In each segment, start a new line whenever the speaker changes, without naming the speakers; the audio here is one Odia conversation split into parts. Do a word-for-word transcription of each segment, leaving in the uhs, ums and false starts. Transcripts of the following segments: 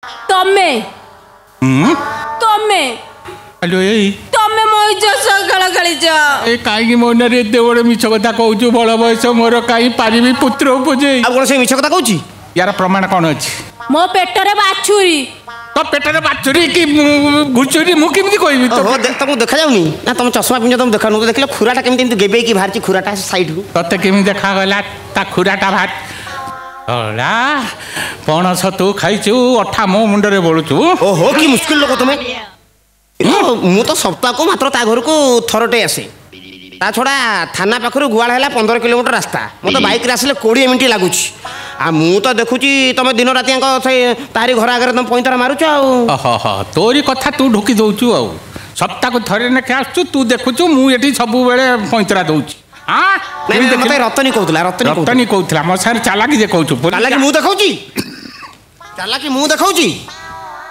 ତମେ ତମେ
ହ୍ୟାଲୋ, ଏଇ
ତମେ ମୋ ଇଜ୍ଜତ ସହ ଖେଳ ଖେଳିଛ।
ଏ କାହିଁକି ମୋ ନାଁରେ ଏତେ ବଡ଼ ମିଛ କଥା କହୁଛୁ? ବଳ ବୟସ ମୋର, କାହିଁ ପାରିବି ପୁତ୍ର ଉପଜେଇ?
ଆଉ କ'ଣ ସେ ମିଛ କଥା କହୁଛି?
ୟାର ପ୍ରମାଣ କ'ଣ ଅଛି?
ମୋ ପେଟରେ ବାଛୁରୀ।
ତୋ ପେଟରେ ବାଛୁରୀ କି ଘୁଷୁରୀ ମୁଁ କେମିତି କହିବି?
ଓହୋ, ତମକୁ ଦେଖାଯାଉନି ନା? ତମ ଚଷମା ପିନ୍ଧ, ତମକୁ ଦେଖାଉନି? ଦେଖିଲ ଖୁରାଟା କେମିତି ଏମିତି ଗେବେଇକି ବାହାରିଛି ଖୁରାଟା ସାଇଡରୁ?
ତତେ କେମିତି ଦେଖାଗଲା ତା ଖୁରାଟା ବାହାର? ଅଳା ପଣସ ତୁ ଖାଇଛୁ, ଅଠା ମୋ ମୁଣ୍ଡରେ ବୋଳୁଛୁ।
ଓହୋ, କି ମୁସ୍କିଲ ଲୋକ ତମେ! ମୁଁ ତ ସପ୍ତାହକୁ ମାତ୍ର ତା ଘରକୁ ଥରଟେ ଆସେ। ତା ଛଡ଼ା ଥାନା ପାଖରୁ ଗୁହାଳ ହେଲା ପନ୍ଦର କିଲୋମିଟର ରାସ୍ତା, ମୋତେ ବାଇକ୍ରେ ଆସିଲେ କୋଡ଼ିଏ ମିନିଟ୍ ଲାଗୁଛି। ଆଉ ମୁଁ ତ ଦେଖୁଛି ତମେ ଦିନ ରାତି ଯାକ ସେ ତାରି ଘର ଆଗରେ ତମେ ପଇଁତରା ମାରୁଛ। ଆଉ
ଓହୋ, ତୋରି କଥା ତୁ ଢୋକି ଦଉଛୁ। ଆଉ ସପ୍ତାହକୁ ଥରେ ଲେଖେ ଆସୁଛୁ, ତୁ ଦେଖୁଛୁ ମୁଁ ଏଠି ସବୁବେଳେ ପଇଁତରା ଦଉଛି।
ମତେ ରତନୀ କହୁଥିଲା। ରତନୀ,
ରତନୀ କହୁଥିଲା ମୋ ସାଙ୍ଗରେ ଚାଲାକି ଯେ କହୁଛୁ।
ଚାଲାକି ମୁଁ ଦେଖାଉଛି, ଚାଲାକି ମୁଁ ଦେଖାଉଛି।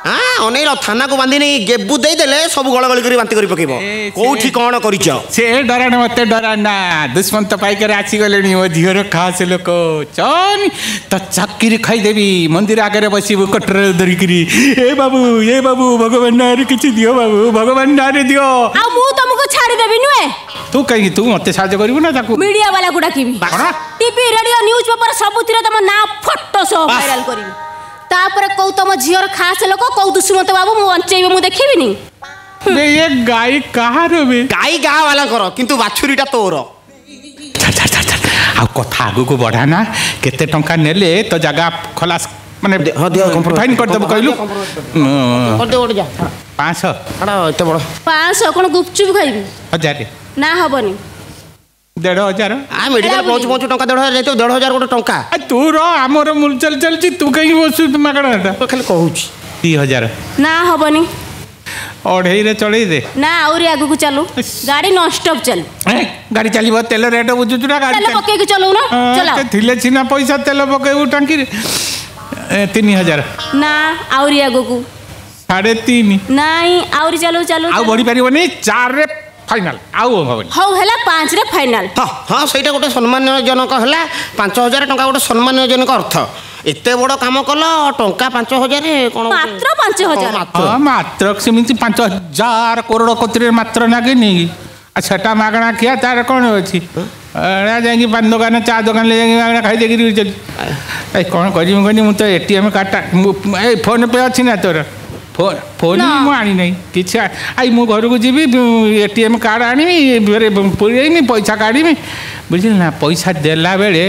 ହଁ, ଅନେଇଲ, ଥାନାକୁ ବାନ୍ଧି ନେଇ ଗେବୁ ଦେଇଦେଲେ ସବୁ ଗଳଗଳି କରି ବାନ୍ତି କରି ପକେଇବ କୋଉଠି କଣ କରିଛ।
ସେ ଡରାଣ, ମତେ ଡରା ନା। ଦୁଷ୍ମନ୍ତ ପାଇକରେ ଆସିଗଲେଣି, ମୋ ଝିଅର ଖାସ ଲୋକ। ଚନ୍ ତ ଚାକିରି ଖାଇଦେବି। ମନ୍ଦିର ଆଗରେ ବସିବୁ କଟର ଧରିକିରି, ଏ ବାବୁ, ଏ ବାବୁ, ଭଗବାନ ନାଁରେ କିଛି ଦିଅ ବାବୁ, ଭଗବାନ ନାଁରେ ଦିଅ।
ଆଉ ମୁଁ ତମକୁ ଛାଡ଼ିଦେବି ନୁହେଁ।
ତୁ କାହିଁକି? ତୁ ମତେ ସାହାଯ୍ୟ କରିବୁ ନା ତାକୁ?
ମିଡିଆ ବାଲାକୁ ଡାକିବି, ଟିଭି, ରେଡିଓ, ନ୍ୟୁଜ ପେପର ସବୁଥିରେ ତମ ନାଁ ଫଟୋ ସହ ଭାଇରାଲ କରିବି। ତାପରେ କୋଉ ତମ ଝିଅର ଖାସ ଲୋକ, କୋଉ ଦୁଷ୍ମନ୍ତ ବାବୁ ମୁଁ ବଞ୍ଚେଇବେ ମୁଁ ଦେଖିବିନି।
ଏ ଗାଈ କାହାର ବେ?
ଗାଈ ଗାଁ ବାଲାଙ୍କର, କିନ୍ତୁ ବାଛୁରୀଟା ତୋର।
ଆଉ କଥା ଆଗକୁ ବଢା ନା। କେତେ ଟଙ୍କା ନେଲେ ତ ଜାଗା ଖଲାସ, ମାନେ ଫାଇନ୍ କରିଦେବୁ କହିଲୁ? ପାଞ୍ଚଶହ?
ଏତେ ବଡ଼
ପାଞ୍ଚଶହ କ'ଣ ଗୁପଚୁପ ଖାଇବି?
ହଜାରେ।
ନା, ହବନି।
ଦେଢ଼ ହଜାର।
ଆ ମେଡିକାଲ ପହଞ୍ଚୁ ପହଞ୍ଚୁ ଟଙ୍କା ଦେଢ଼ ହଜାର ଯାଇଥିବ। ଦେଢ଼ ହଜାର ଗୋଟେ ଟଙ୍କା?
ତୁ ର, ଆମର ମୁଲଚାଲ ଚାଲିଛି, ତୁ କାହିଁକି ବସୁ ମାଗଣାଟା?
ଖାଲି କହୁଛି।
ଦି ହଜାର।
ନା, ହବନି।
ଅଢ଼େଇରେ ଚଳେଇ ଦେ।
ନା, ଆହୁରି ଆଗକୁ ଚାଲୁ, ଗାଡ଼ି ନନଷ୍ଟପ୍ ଚାଲୁ।
ଗାଡ଼ି ଚାଲିବ? ତେଲ ରେଟ୍ ବୁଝୁଛୁ ନା? ଗାଡ଼ି
ତେଲ ପକେଇକି ଚଲଉନ।
ଥିଲେ ସିନା ପଇସା ତେଲ ପକେଇବୁ ଟାଙ୍କିରେ। ତିନି ହଜାର।
ନା, ଆହୁରି ଆଗକୁ।
ସାଢ଼େ ତିନି।
ନାଇଁ, ଆହୁରି ଚାଲୁ, ଚାଲୁ।
ଆଉ ବଢି ପାରିବନି। ଚାରିରେ ଫାଇନାଲ, ଆଉ ହବନି।
ହଉ ହେଲା, ପାଞ୍ଚରେ ଫାଇନାଲ।
ହଁ ହଁ, ସେଇଟା ଗୋଟେ ସମ୍ମାନଜନକ ହେଲା। ପାଞ୍ଚ ହଜାର ଟଙ୍କା ଗୋଟେ ସମ୍ମାନଜନକ ଅର୍ଥ। ଏତେ ବଡ଼ କାମ କଲ, ଟଙ୍କା ପାଞ୍ଚ ହଜାର
କ'ଣ? ମାତ୍ର ପାଞ୍ଚ ହଜାର?
ହଁ, ମାତ୍ର ସେମିତି ପାଞ୍ଚ ହଜାର କରୋଡ଼ କତିରେ ମାତ୍ର ନାଗେନି। ଆଉ ସେଟା ମାଗଣା ଖିଆ, ତାର କ'ଣ ଅଛି? ଯାଇକି ପାନ ଦୋକାନ, ଚା ଦୋକାନରେ ଯାଇକି ମାଗଣା ଖାଇଦେଇକିରି। ଏ କ'ଣ କରିବି କହିନି, ମୁଁ ତ ଏ ଟି ଏମ୍ କାର୍ଡ଼ଟା, ଏଇ ଫୋନ୍ ପେ ଅଛି ନା ତୋର? ଫୋନ୍ ଫୋନ୍ ମୁଁ ଆଣିନାହିଁ କିଛି। I ମୁଁ ଘରକୁ ଯିବି, ଏ ଟି ଏମ୍ କାର୍ଡ଼ ଆଣିବି, ଫେରେ ପୁରେଇମି, ପଇସା କାଢ଼ିବି, ବୁଝିଲି ନା? ପଇସା ଦେଲା ବେଳେ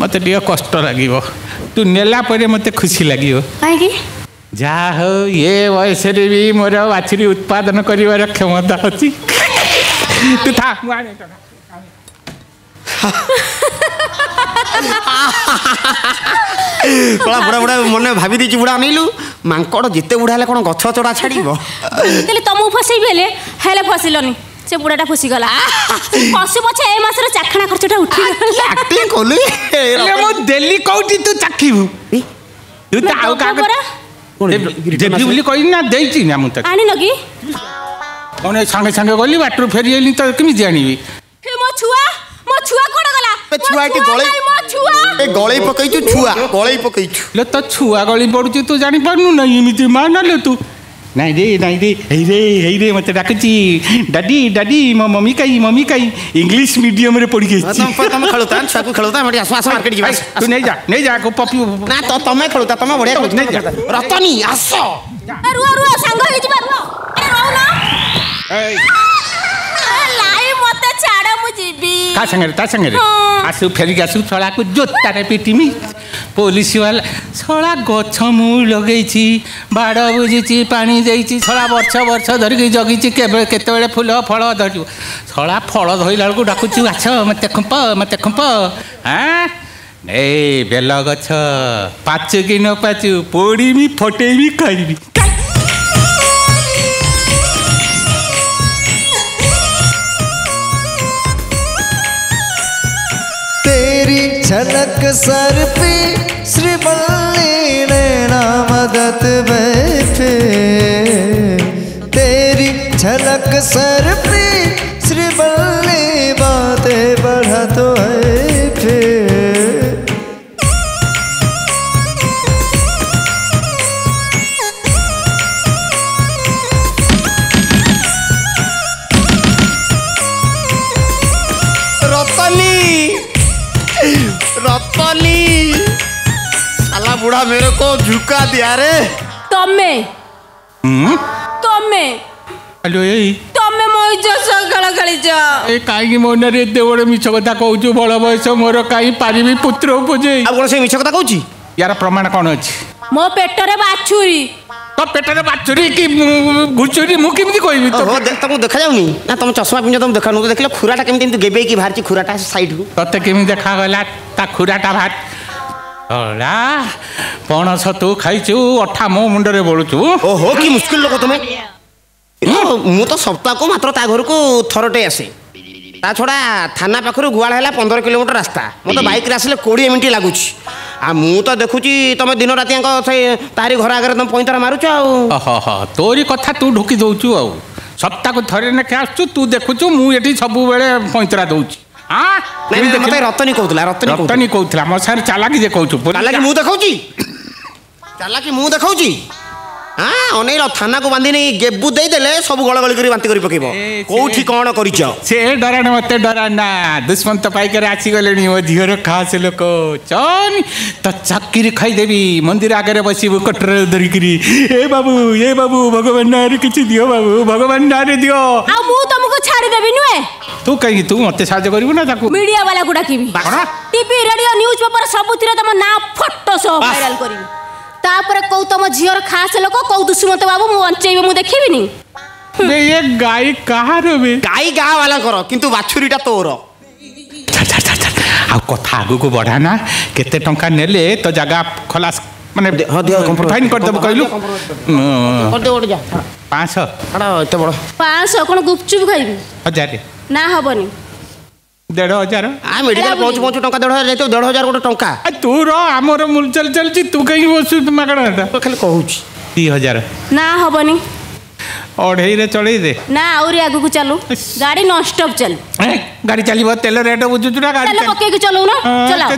ମୋତେ ଟିକେ କଷ୍ଟ ଲାଗିବ, ତୁ ନେଲା ପରେ ମୋତେ ଖୁସି ଲାଗିବ।
କାହିଁକି?
ଯାହା ହଉ, ଏ ବୟସରେ ବି ମୋର ବାଛୁରୀ ଉତ୍ପାଦନ କରିବାର କ୍ଷମତା ଅଛି। ତୁ ଥା, ମୁଁ ଆଣେ।
ବୁଢ଼ା ବୁଢ଼ା ମନେ ଭାବି ଦେଇଛି ବୁଢ଼ା। ଅନେଇଲୁ, ମାଙ୍କଡ଼ ଯେତେ ବୁଢ଼ା ହେଲେ କ'ଣ ଗଛ ଚଢ଼ା ଛାଡ଼ିବ?
ହେଲେ ତମକୁ ଫସେଇବି, ହେଲେ ହେଲେ ଫସିଲନି, ସେ ବୁଢ଼ାଟା ଫସିଗଲା। ଫସୁ ପଛେ, ଏ ମାସର ଚାଖଣା ଖର୍ଚ୍ଚଟା ଉଠିଗଲା।
ଆକ୍ଟିଂ କଲୁ।
ମୁଁ ଦେଲି କୋଉଠି, ତୁ ଚାଖିବୁ? ତୁ ତ ଆଉ କାହାକୁ ଦେବି ବୋଲି କହିଲି ନା ଦେଇଛି ନା ମୁଁ? ତାକୁ
ଆଣିନ କି
କ'ଣ? ସାଙ୍ଗେ ସାଙ୍ଗେ ଗଲି, ବାଟରୁ ଫେରି ଆଇଲି, ତ କେମିତି ଆଣିବି?
ମୋ ଛୁଆ, ମୋ ଛୁଆ କୁଆଡ଼େ ଗଲା?
ଛୁଆ ଏଠି ଗଳେଇ, ଏ ଗଳେଇ ପକେଇଛୁ, ଛୁଆ ଗଳେଇ ପକେଇଛୁ।
ଲେ, ତୋ ଛୁଆ ଗଳି ପଡୁଛି, ତୁ ଜାଣିପାରୁନୁ ନା? ଏମିତି ମା ନଲେ ତୁ। ନାଇଁ ରେ, ନାଇଁ ରେ, ଏଇ ରେ, ଏଇ ରେ, ମତେ ଡାକୁଛି, ଡାଡି ଡାଡି, ମୋ ମମି କାଇଁ, ମମି କାଇଁ? ଇଂଲିଶ ମିଡିୟମରେ ପଢିକି ଆସିଛି।
ତମେ ଖେଳୁତା, ଛୁଆକୁ ଖେଳୁତା। ଆମେ ଆସ, ଆସ, ମାର୍କେଟ ଯିବା।
ତୁ ନେଇଯା, ନେଇଯା ପପି।
ନା, ତ ତମେ ଖେଳୁତା, ତମେ ବଢିଆ। ନେଇଯା। ରତନୀ, ଆସ।
ରୁହ ରୁହ, ସାଙ୍ଗ ହେଇଯିବା, ରୁହ। ଆରେ ରହୁନ। ଲାଇ, ମତେ ଛାଡ, ମୁଁ ଯିବି।
ତା ସାଙ୍ଗରେ, ତା ସାଙ୍ଗରେ ଆସୁ, ଫେରିକି ଆସୁ, ଶଳାକୁ ଜୋତାରେ ପିଟିମି। ପୋଲିସ ବାଲା ଶଳା। ଗଛ ମୁଁ ଲଗେଇଛି, ବାଡ଼ ବୁଝିଛି, ପାଣି ଦେଇଛି, ଶଳା ବର୍ଷ ବର୍ଷ ଧରିକି ଜଗିଛି, କେବେ କେତେବେଳେ ଫୁଲ ଫଳ ଧରିବ। ଶଳା ଫଳ ଧରିଲା ବେଳକୁ ଡାକୁଛୁ, ଆଛ ମତେ ଖୁମ୍ପ, ମତେ ଖୁମ୍ପ। ଆଁ ଏଇ ବେଲ ଗଛ ପାଚୁ କି ନ ପାଚୁ, ପୋଡ଼ିବି, ଫଟେଇବି, ଖାଇବି।
तेरी झलक सर पे श्रीवल्ली नैना मदद बैठे, तेरी झलक सर पे श्रीवल्ली बातें बढ़ा तो है फिर।
पूरा मेरे को झुका दिया रे।
ତମେ ତମେ
ହ୍ୟାଲୋ, ଏଇ
ତମେ ମୋ ଇଜ୍ଜତ ସହ ଖେଳ ଖେଳିଛ।
ଏ କାହିଁକି ମୋ ନାଁରେ ଏତେ ବଡ଼ ମିଛ କଥା କହୁଛୁ? ବଳ ବୟସ ମୋର, କାହିଁ ପାରିବି ପୁତ୍ର ଉପଜେଇ?
ଆଉ କଣ ସେ ମିଛ କଥା କହୁଛି?
ୟାର ପ୍ରମାଣ କଣ ଅଛି?
ମୋ ପେଟରେ ବାଛୁରୀ।
ତୋ ପେଟରେ ବାଛୁରୀ କି ଘୁଷୁରୀ ମୁଁ କେମିତି କହିବି?
ଓହୋ, ତମକୁ ଦେଖାଯାଉନି ନା? ତମ ଚଷମା ପିନ୍ଧ, ତମକୁ ଦେଖାଯାଉନି? ଦେଖିଲ ଖୁରାଟା କେମିତି ଏମିତି ଗେବେଇକି ବାହାରିଛି ଖୁରାଟା ସାଇଡରୁ।
ତତେ କେମିତି ଦେଖାଗଲା ତା ଖୁରାଟା ବାହାର? ଅଳା ପଣସ ତୁ ଖାଇଛୁ, ଅଠା ମୋ ମୁଣ୍ଡରେ ବୋଳୁଛୁ।
ଓହୋ, କି ମୁସ୍କିଲ ଲୋକ ତମେ। ମୁଁ ତ ସପ୍ତାହକୁ ମାତ୍ର ତା ଘରକୁ ଥରଟେ ଆସେ। ତା ଛଡ଼ା ଥାନା ପାଖରୁ ଗୁହାଳ ହେଲା ପନ୍ଦର କିଲୋମିଟର ରାସ୍ତା, ମୋତେ ବାଇକ୍ରେ ଆସିଲେ କୋଡ଼ିଏ ମିନିଟ୍ ଲାଗୁଛି। ଆଉ ମୁଁ ତ ଦେଖୁଛି ତମେ ଦିନ ରାତି ଯାକ ସେଇ ତାରି ଘର ଆଗରେ ତମେ ପଇଁତରା ମାରୁଛ। ଆଉ
ଓହୋ, ତୋରି କଥା ତୁ ଢୁକି ଦଉଛୁ। ଆଉ ସପ୍ତାହକୁ ଥରେ ଲେଖା ଆସୁଛୁ, ତୁ ଦେଖୁଛୁ ମୁଁ ଏଠି ସବୁବେଳେ ପଇଁତରା ଦଉଛି।
ମତେ ରତନୀ କହୁଥିଲା। ରତନୀ
ରତନୀ କହୁଥିଲା ମୋ ସାଙ୍ଗରେ ଚାଲାକି ଯେ କହୁଛୁ।
ଚାଲାକି ମୁଁ ଦେଖାଉଛି, ଚାଲାକି ମୁଁ ଦେଖାଉଛି। ହଁ, ଅନେଇଲ, ଥାନାକୁ ବାନ୍ଧି ନେଇ ଗେବୁ ଦେଇଦେଲେ ସବୁ ଗଳଗଳି କରି ବାନ୍ତି କରି ପକେଇବ। କୋଉଠି କଣ କରିଛ?
ସେ ଡରାଣ, ମତେ ଡରା ନା। ଦୁଷ୍ମନ୍ତ ପାଇକରେ ଆସିଗଲେଣି, ମୋ ଝିଅର ଖାସ ଲୋକ। ଚନ୍ ତ ଚାକିରି ଖାଇଦେବି। ମନ୍ଦିର ଆଗରେ ବସିବୁ କଟର ଧରିକିରି, ଏ ବାବୁ, ଏ ବାବୁ, ଭଗବାନ ନାଁରେ କିଛି ଦିଅ ବାବୁ, ଭଗବାନ ନାଁରେ ଦିଅ।
ଆଉ ମୁଁ ତମକୁ ଛାଡ଼ିଦେବି ନୁହେଁ।
ତୁ କାହିଁକି? ତୁ ମତେ ସାହାଯ୍ୟ କରିବୁ ନା ତାକୁ?
ମିଡିଆ ବାଲାକୁ ଡାକିବି, ଟିଭି, ରେଡିଓ, ନ୍ୟୁଜ ପେପର ସବୁଥିରେ ତମ ନାଁ ଫଟୋ ସହ ଭାଇରାଲ କରିବି। ତାପରେ କୋଉ ତମ ଝିଅର ଖାସ ଲୋକ, କୋଉ ଦୁଷ୍ମନ୍ତ ବାବୁ ମୁଁ ବଞ୍ଚେଇବେ, ମୁଁ ଦେଖିବିନି।
ଏ ଗାଈ କାହାର ବେ?
ଗାଈ ଗାଁ ବାଲାଙ୍କର, କିନ୍ତୁ ବାଛୁରୀଟା ତୋର।
ଆଉ କଥା ଆଗକୁ ବଢା ନା। କେତେ ଟଙ୍କା ନେଲେ ତ ଜାଗା ଖଲାସ, ମାନେ ଫାଇନ୍ କରିଦେବୁ କହିଲୁ? ପାଞ୍ଚଶହ।
ଏତେ ବଡ଼
ପାଞ୍ଚଶହ କଣ ଗୁପଚୁପ ଖାଇବି?
ହଜାରେ।
ନା, ହବନି।
ଦେଢ଼ ହଜାର।
ଆ ମେଡିକାଲ ପହଞ୍ଚୁ ପହଞ୍ଚୁ ଟଙ୍କା ଦେଢ଼ ହଜାର ଯାଇଥିବ। ଦେଢ଼ ହଜାର ଗୋଟେ ଟଙ୍କା?
ତୁ ର, ଆମର ମୁଲଚାଲ ଚାଲିଛି, ତୁ କାହିଁକି ବସୁଛୁ ମାଗଣାଟା?
ଖାଲି କହୁଛି।
ଦି ହଜାର।
ନା, ହବନି।
ଅଢ଼େଇରେ ଚଳେଇ ଦେ।
ନା, ଆହୁରି ଆଗକୁ ଚାଲୁ, ଗାଡ଼ି ନନଷ୍ଟପ୍ ଚାଲୁ।
ଗାଡ଼ି ଚାଲିବ? ତେଲ ରେଟ୍ ବୁଝୁଛୁ ନା?
ଗାଡ଼ି ତେଲ ପକେଇକି ଚଲଉନ।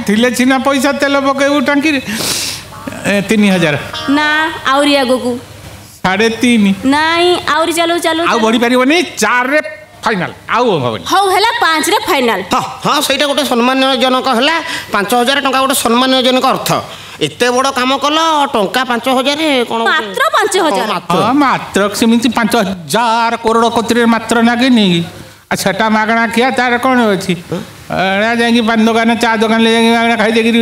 ଥିଲେ ସିନା ପଇସା ତେଲ ପକେଇବୁ ଟାଙ୍କିରେ। ତିନି ହଜାର।
ନା, ଆହୁରି ଆଗକୁ।
ସାଢ଼େ ତିନି।
ନାଇଁ, ଆହୁରି ଚାଲୁ, ଚାଲୁ।
ଆଉ ବଢି ପାରିବନି। ଚାରିରେ ଫାଇନାଲ, ଆଉ ହବନି।
ହଉ ହେଲା, ପାଞ୍ଚରେ ଫାଇନାଲ।
ହଁ ହଁ, ସେଇଟା ଗୋଟେ ସମ୍ମାନଜନକ ହେଲା। ପାଞ୍ଚ ହଜାର ଟଙ୍କା ଗୋଟେ ସମ୍ମାନଜନକ ଅର୍ଥ। ଏତେ ବଡ଼ କାମ କଲ, ଟଙ୍କା ପାଞ୍ଚ ହଜାର
କ'ଣ? ମାତ୍ର ପାଞ୍ଚ ହଜାର।
ହଁ, ମାତ୍ର ସେମିତି ପାଞ୍ଚ ହଜାର କରୋଡ଼ କତିରେ ମାତ୍ର ନାଗେନି। ଆଉ ସେଟା ମାଗଣା ଖିଆ, ତାର କ'ଣ ଅଛି? ଏଇଟା ଯାଇକି ପାନ ଦୋକାନ, ଚା ଦୋକାନରେ ଯାଇକି ମାଗଣା ଖାଇଦେଇକିରି।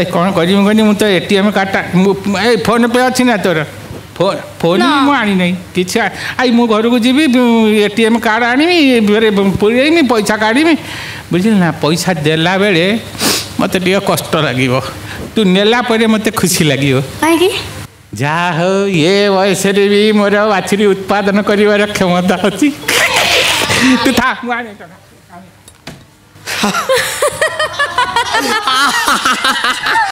ଏଇ କ'ଣ କରିବି କହିନି? ମୁଁ ତ ଏ ଟି ଏମ୍ କାର୍ଡ଼ଟା, ଏଇ ଫୋନ୍ ପେ ଅଛି ନା ତୋର? ଫୋନ୍ ଫୋନ୍ ମୁଁ ଆଣିନାହିଁ କିଛି। I ମୁଁ ଘରକୁ ଯିବି, ଏ ଟି ଏମ୍ କାର୍ଡ଼ ଆଣିବି, ଫେରେ ପୁରେଇମି, ପଇସା କାଢ଼ିବି, ବୁଝିଲି ନା? ପଇସା ଦେଲା ବେଳେ ମୋତେ ଟିକେ କଷ୍ଟ ଲାଗିବ, ତୁ ନେଲା ପରେ ମୋତେ ଖୁସି ଲାଗିବ।
କାହିଁକି?
ଯାହା ହଉ, ଏ ବୟସରେ ବି ମୋର ବାଛୁରୀ ଉତ୍ପାଦନ କରିବାର କ୍ଷମତା ଅଛି। ତୁ ଥା, ମୁଁ ଆଣେ।